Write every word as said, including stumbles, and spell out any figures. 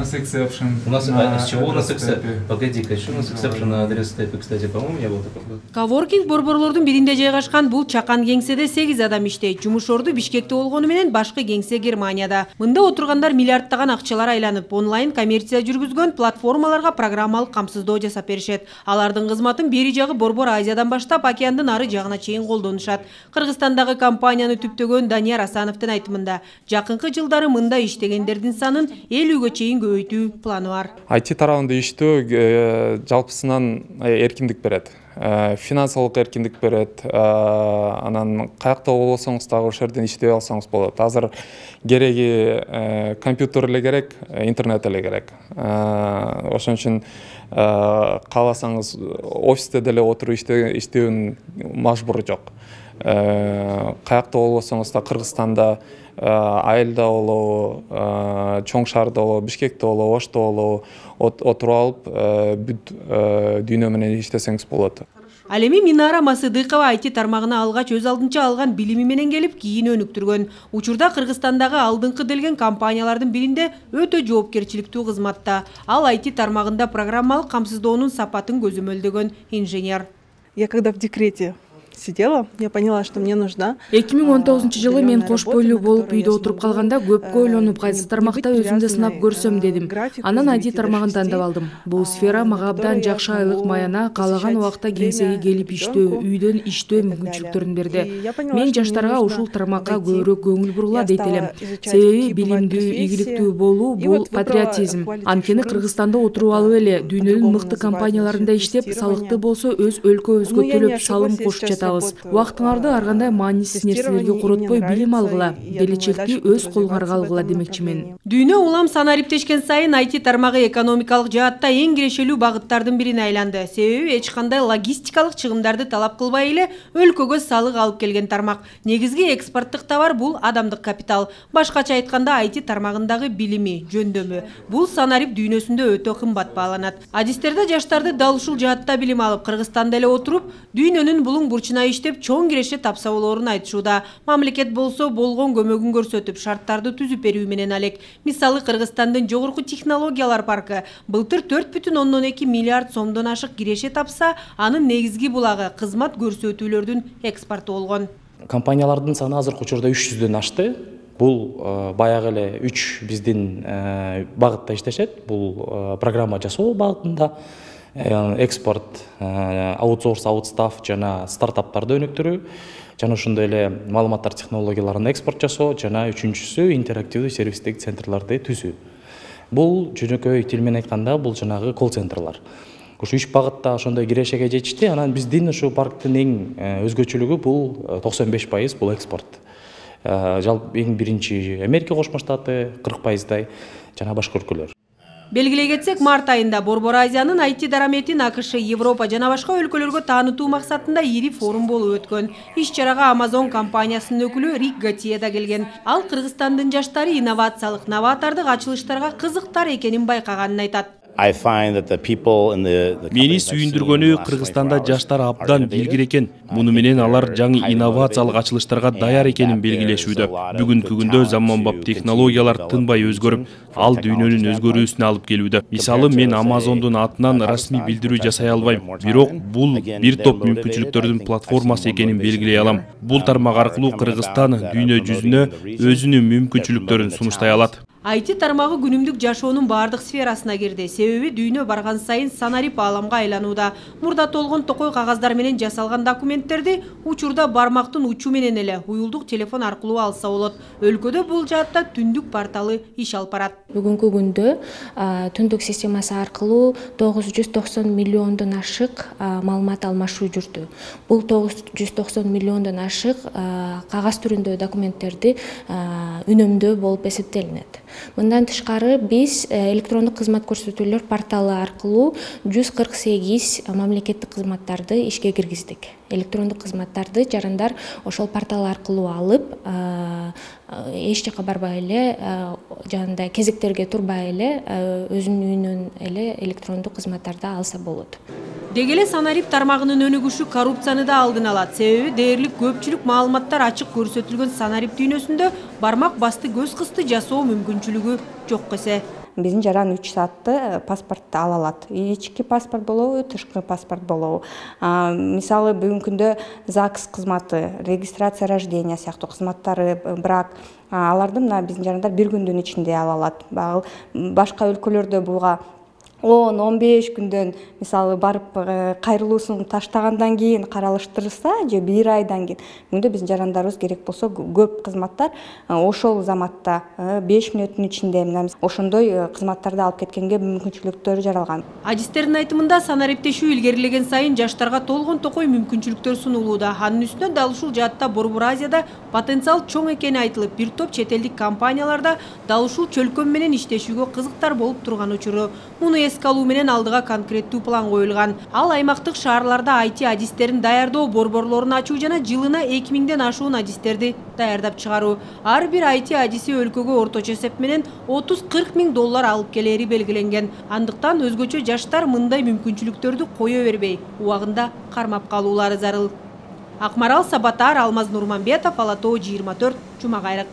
нас exception. У нас, на а, с чего у нас адрес exception? степи. Погоди-ка, что у нас exception на адрес степи, кстати, по-моему, не было такого. Коворкинг борборлордун биринде жайгашкан бул чакан кеңседе сегиз адам иштейт. Жумуш орду Бишкекте болгону менен башкы кеңсе Германияда. Мында отургандар миллиардтаган акчалар айланып, онлайн коммерция жүргүзгөн платформаларга программалык камсыздоо жасап беришет. Алардын кызматын бери жагы Борбор Азиядан баштап океандын ары жагына чейин колдонушат. Кыргызстандагы компанияны түптөгөн Данияр Асановдун айтымында, жакынкы жылдары мында иштегендердин санын элүүгө чейин көбөйтүү планы бар. ай ти тарабында иштөө жалпысынан эркиндик берет. Финансылык эркиндик берет. Анан каякта болсоңуз дагы ошол жерден иштей алсаңыз болот. Азыр кереги компьютер эле керек, интернет эле керек. Ошон үчүн кааласаңыз офисте деле отуруп иштөөнүн мажбуру жок. Каякта болсоңуз да Кыргызстанда, Айылда болобу, Чоң шаарда болобу, Бишкекте болобу, Ошто болобу отуруп алып бүт дүйнө менен иштесеңиз болот. Ал эми Минара Масыдыкова ай ти тармагына алгач өз алдынча алган билими менен келип кийин өнүктүргөн. Учурда Кыргызстандагы алдыңкы делген компаниялардын биринде өтө жоопкерчиликтүү кызматта. Ал ай ти тармагында программалык камсыздоонун сапатын көзөмөлдөгөн инженер. Я когда в декрете сидела, я поняла, что мне нужна. эки миң он тогузунчу жылы мен кош бойлуу болуп үйдө отуруп калганда көпкө ойлонуп, кайсы тармакта өзүмдү сынап көрсөм дедим. Анан ай ти тармагын тандап алдым. Бул сфера мага абдан жакшы айлык маяна, каалаган убакта кеңсеге келип иштөө, үйдөн иштөө мүмкүнчүлүктөрүн берди. Мен жаштарга ушул тармакка көбүрөөк көңүл бурула дейт элем. Себеби билимдүү, ийгиликтүү болуу бул патриотизм. Анткени Кыргызстанда отуруп алып эле дүйнөнүн мыкты компанияларында иштеп, салыкты болсо өз өлкөбүзгө төлөп салым кошуп жатабыз. Убактыңарды ар кандай маанисиз нерселерге коротпой билим алгыла, келечекти өз колуңарга алгыла демекчимин. Дүйнө улам санариптешкен сайын ай ти тармагы экономикалык жаатта эң кирешелүү багыттардын бирине айланды. Себеби эч кандай логистикалык чыгымдарды талап кылбай эле өлкөгө салык алып келген тармак. Негизги экспорттук товар бул адамдык капитал. Башкача айтканда ай ти тармагындагы билими, жөндөмү бул санарип дүйнөсүндө өтө кымбат бааланат. Адистерде жаштарды дал ушул жаатта билим алып, Кыргызстанда эле отуруп, дүйнөнүн булуң бурчуна иштеп чоң киреше тапса болоорун айтышууда. Мамлекет болсо болгон көмөгүн көрсөтүп, шарттарды түзүп берүү менен алек. Мисалы Кыргызстандын жогорку технологиялар паркы былтыр төрт бүтүн ондон эки миллиард сомдон ашык киреше тапса, анын негизги булагы кызмат көрсөтүүлөрдүн экспорту болгон. Компаниялардын саны азыркы учурда үч жүздөн ашты. Бул баягы эле үч биздин багытта иштешет. Бул программа жасоо багытында, экспорт, аутсорс, аутстаф жана стартаптарды өнүктүрүү, жана ошондой эле маалыматтар технологияларын экспорт жасоо, жана үчүнчүсү интерактивдүү сервистик центрларды түзүү. Бул жөнөкөй тил менен айтканда бул жанагы колл-центрлар. Ушу үч багытта ошондой кирешеге жетишти. Анан биздин ушу парктын эң өзгөчөлүгү бул токсон беш пайыз бул экспорт. Жалпы эң биринчи Америка Кошмо Штаты кырк пайыздай жана башка өлкөлөр. Белгилей кетсек, март айында Борбор Азиянын ай ти дараметин АКШ, Европа жана башка өлкөлөргө таанытуу максатында ири форум болуп өткөн. Иш-чарага Amazon компаниясынын өкүлү Рик Готье да келген. Ал Кыргызстандын жаштары инновациялык, новатордук ачылыштарга кызыктар экенин байкаганын айтат. Мени сүйүндүргөнү Кыргызстанда жаштар абдан билгир экен. Муну менен алар жаңы инновациялык ачылыштарга даяр экенин белгилешүүдө. Бүгүнкү күндө заманбап технологиялар тынбай өзгөрүп, ал дүйнөнүн өзгөрүүсүнө алып келүүдө. Мисалы, мен Amazondун атынан расмий билдирүү жасай албайм, бирок бул бир топ мүмкүнчүлүктөрдүн платформасы экенин белгилей алам. Бул тармак аркылуу Кыргызстан дүйнө жүзүнө өзүнүн мүмкүнчүлүктөрүн сунуштай алат. ай ти тармагы күнүмдүк жашоонун бардык сферасына кирди. Себеби дүйнө барган сайын санарип ааламга айланууда. Мурда толгон токой кагаздар менен жасалган документтерди учурда бармактын учу менен эле уюлдук телефон аркылуу алса болот. Өлкөдө бул жаатта түндүк порталы иш алып барат. Бүгүнкү күндө түндүк системасы аркылуу тогуз жүз токсон миллиондон ашык маалымат алмашуу жүрдү. Бул тогуз жүз токсон миллиондон ашык кагаз түрүндө документтерди үнөмдөө болуп эсептелинет. Мындан тышкары биз электрондук кызмат көрсөтүүлөр порталы аркылуу жүз кырк сегиз мамлекеттик кызматтарды ишке киргиздик. Электрондук кызматтарды жарандар ошол портал аркылуу алып, эч жака барбай эле, жанында кезектерге турбай эле өзүнүн үйүнөн эле электрондук кызматтарды алса болот. Деги эле санарип тармагынын өнүгүшү коррупцияны да алдын алат. Себеби дээрлик көпчүлүк маалыматтар ачык көрсөтүлгөн санарип дүйнөсүндө бармак басты көз кысты жасоо мүмкүнчүлүгү жок эсе. биздин жаран үч саатты паспортто ала алат. Ички паспорт болобу, тышкы паспорт болобу. Мисалы бүгүнкү күндө ЗАГС кызматы, регистрация рождения сыяктуу кызматтары, брак, аларды мына биздин жарандар бир күндүн ичинде ала алат. Башка өлкөлөрдө буга он он беш күндөн мисалы барып кайрылуусун таштагандан кийин каралыштырса же бир айдан кийин, бүгүндө биздин жарандарыбыз керек болсо көп кызматтар ошол заматта беш мүнөттүн ичинде мына ошондой кызматтарды алып кеткенге мүмкүнчүлүктөр жаралган. Адистердин айтымында санариптешүү илгерилеген сайын жаштарга толгон токой мүмкүнчүлүктөр сунулууда. Анын үстүнө дал ушул жаатта Борбор Азияда потенциал чоң экени айтылып, бир топ чет элдик компанияларда дал ушул чөлкөм менен иштешүүгө кызыктар болуп турган учуру. Муну эске алуу менен алдыга конкреттүү план коюлган. Ал аймактык шаарларда ай ти адистерин даярдоо борборлорун ачуу жана жылына эки миңден ашуун адистерди даярдап чыгаруу. Ар бир ай ти адиси өлкөгө орточо эсеп менен отуз кырк миң доллар алып келери белгиленген. Андыктан өзгөчө жаштар мындай мүмкүнчүлүктөрдү кое бербей, убагында кармап калуулары зарыл. Акмарал Сабатар, Алмаз Нурманбетов, Ала Тоо жыйырма төрт, Жума кайрык.